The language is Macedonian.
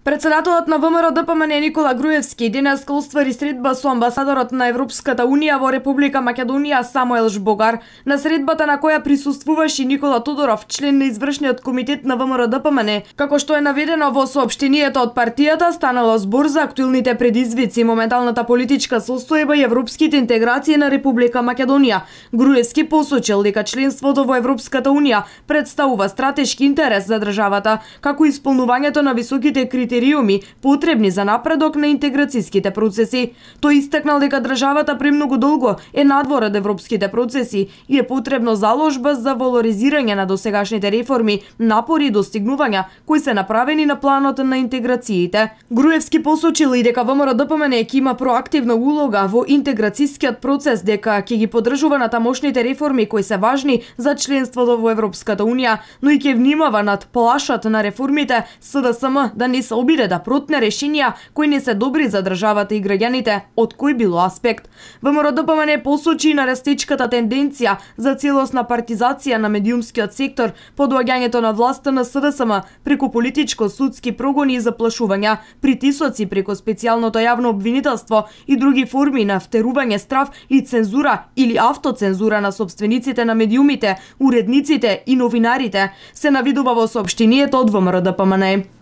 Председателот на ВМРО-ДПМН Никола Груевски денеска оствари средба со амбасадорот на Европската Унија во Република Македонија Самуел Жбогар, на средбата на која присуствуваше Никола Тодоров, член на извршниот комитет на ВМРО-ДПМН. Како што е наведено во соопштението од партијата, станало збор за актуелните предизвици, моменталната политичка состојба и европските интеграции на Република Македонија. Груевски посочил дека членството во Европската Унија представува стратешки интерес за државата, како исполнувањето на високите критериуми потребни за напредок на интеграцијските процеси. Тој истакнал дека државата премногу долго е надвор од европските процеси и е потребно заложба за валоризирање на досегашните реформи, напори и достигнувања кои се направени на планот на интеграциите. Груевски посочил и дека ВМРО-ДПМН ќе има проактивна улога во интеграцијскиот процес, дека ќе ги поддржува на тамошните реформи кои се важни за членството во Европската Унија, но и ќе внимава над плашат на реформите СДСМ да не се обиде да протне решенија кои не се добри за државата и граѓаните од кој било аспект. ВМРО-ДПМН посочи на растечката тенденција за целосна партизација на медиумскиот сектор, подоаѓањето на власта на СДСМ преку политичко-судски прогони и заплашувања, притисоци преку специјалното јавно обвинителство и други форми на втерување страв и цензура или автоцензура на сопствениците на медиумите, уредниците и новинарите, се навидува во соопштението од ВМРО-ДПМН.